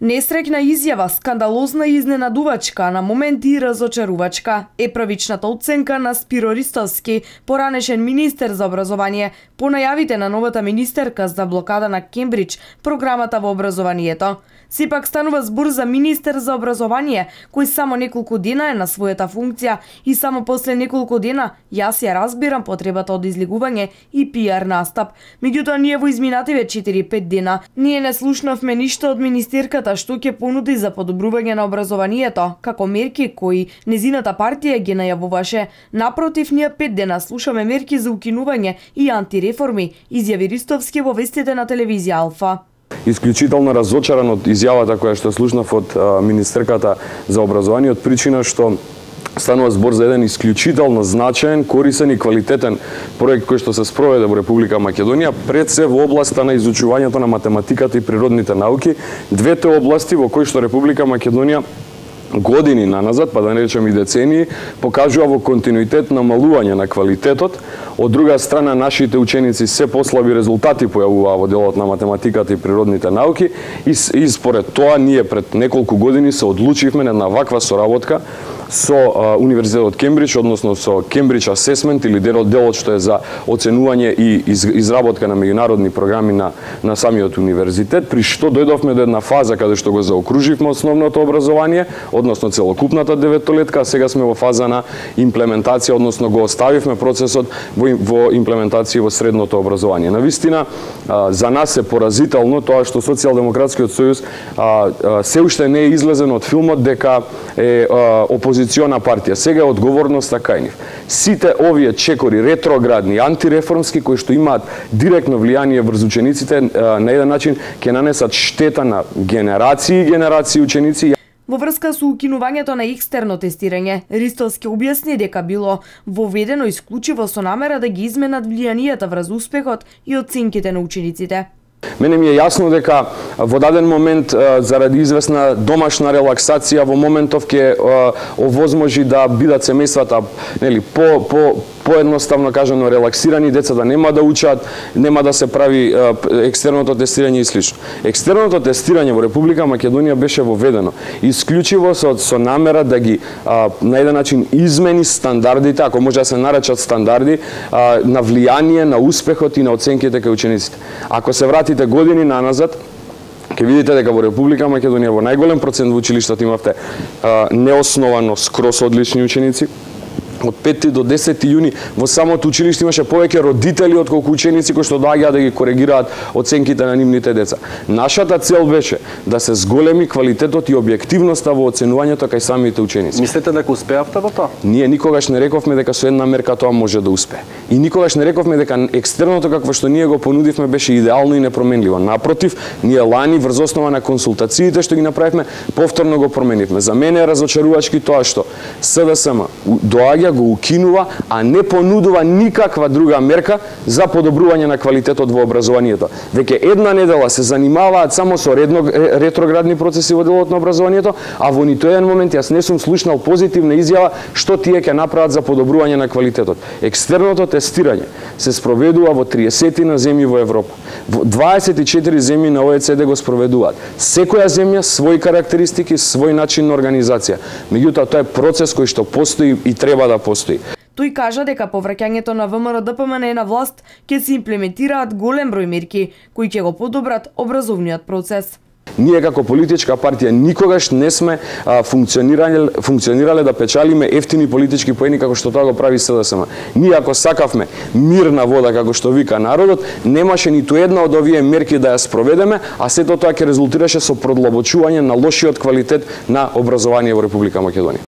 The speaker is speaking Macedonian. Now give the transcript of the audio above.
Несреќна изјава, скандалозна и изненадувачка, на моменти и разочарувачка е првичната оценка на Спиро Ристовски, поранешен министер за образование, по најавите на новата министерка за блокада на Кембридж програмата во образованието. Сепак станува збор за министер за образование, кој само неколку дена е на својата функција и само после неколку дена јас ја разбирам потребата од излигување и пиар настап. Меѓутоа ние во изминативе 4-5 дена ние не слушнавме ништо од министерката што ќе понуди за подобрување на образованието, како мерки кои незината партија ги најавуваше. Напротив, ние 5 дена слушаме мерки за укинување и антиреформи, изјави Ристовски во вестите на телевизија Алфа. Исклучително разочаран од изјавата која што слушнав од министерката за образование, од причина што станува збор за еден исклучително значаен, корисен и квалитетен проект кој што се спроведе во Република Македонија, пред се во областа на изучувањето на математиката и природните науки, двете области во кои што Република Македонија години наназад, па да не речем и децении, покажува во континуитет намалување на квалитетот. Од друга страна, нашите ученици се послаби резултати појавуваа во делот на математиката и природните науки и според тоа ние пред неколку години се одлучивме на една ваква соработка со Универзитетот Кембридж, односно со Кембридж Асесмент или делот што е за оценување и изработка на меѓународни програми на самиот универзитет, при што дојдовме до една фаза каде што го заокруживме основното образование, односно целокупната деветолетка, а сега сме во фаза на имплементација, односно го оставивме процесот во имплементација во средното образование. Навистина, за нас е поразително тоа што Социјалдемократскиот сојуз се уште не е излезен од филмот дека е опозициона партија. Сега е одговорноста кај нив. Сите овие чекори, ретроградни, антиреформски, кои што имаат директно влијание врз учениците, на еден начин ќе нанесат штета на генерации и генерации ученици. Во врска со укинувањето на екстерно тестирање, Ристовски објасни дека било воведено исклучиво со намера да ги изменат влијанието врз успехот и оценките на учениците. Мене ми е јасно дека во даден момент, заради известна домашна релаксација, во моментов ќе овозможи да бидат семејствата поедноставно кажано релаксирани, децата нема да учат, нема да се прави екстерното тестирање и слично. Екстерното тестирање во Република Македонија беше воведено исклучиво со намера да ги на еден начин измени стандардите, ако може да се наречат стандарди, на влијание на успехот и на оценките кај учениците. Ако се вратите години наназад, ќе видите дека во Република Македонија во најголем процент во училиштата имавте неосновано скрос одлични ученици. Од 5 до 10 јуни во самото училиште имаше повеќе родители отколку ученици кои што доаѓаат да ги коригираат оценките на нивните деца. Нашата цел беше да се зголеми квалитетот и објективноста во оценувањето кај самите ученици. Мислите дека успеавте во тоа? Ние никогаш не рековме дека со една мерка тоа може да успее. И никогаш не рековме дека екстерното какво што ние го понудивме беше идеално и непроменливо. Напротив, ние лани врз основа на консултациите што ги направивме, повторно го променивме. За мене е разочарувачки тоа што СДСМ доаѓа, го укинува, а не понудува никаква друга мерка за подобрување на квалитетот во образованието. Веќе една недела се занимаваат само со ретроградни процеси во делот на образованието, а во ниту еден момент јас не сум слушнал позитивна изјава што тие ќе направат за подобрување на квалитетот. Екстерното тестирање се спроведува во 30 земји во Европа. Во 24 земји на ОЕЦД го спроведуваат. Секоја земја своји карактеристики, свој начин на организација. Меѓутоа тоа е процес кој што постои и треба да постои. Тој кажа дека по враќањето на ВМРО-ДПМН на власт ќе се имплементираат голем број мерки кои ќе го подобрат образовниот процес. Ние како политичка партија никогаш не сме функционирале да печалиме ефтини политички поени како што тоа го прави СДСМ. Ние ако сакавме мирна вода како што вика народот, немаше ниту една од овие мерки да ја спроведеме, а сето тоа ќе резултираше со продлабочување на лошиот квалитет на образование во Република Македонија.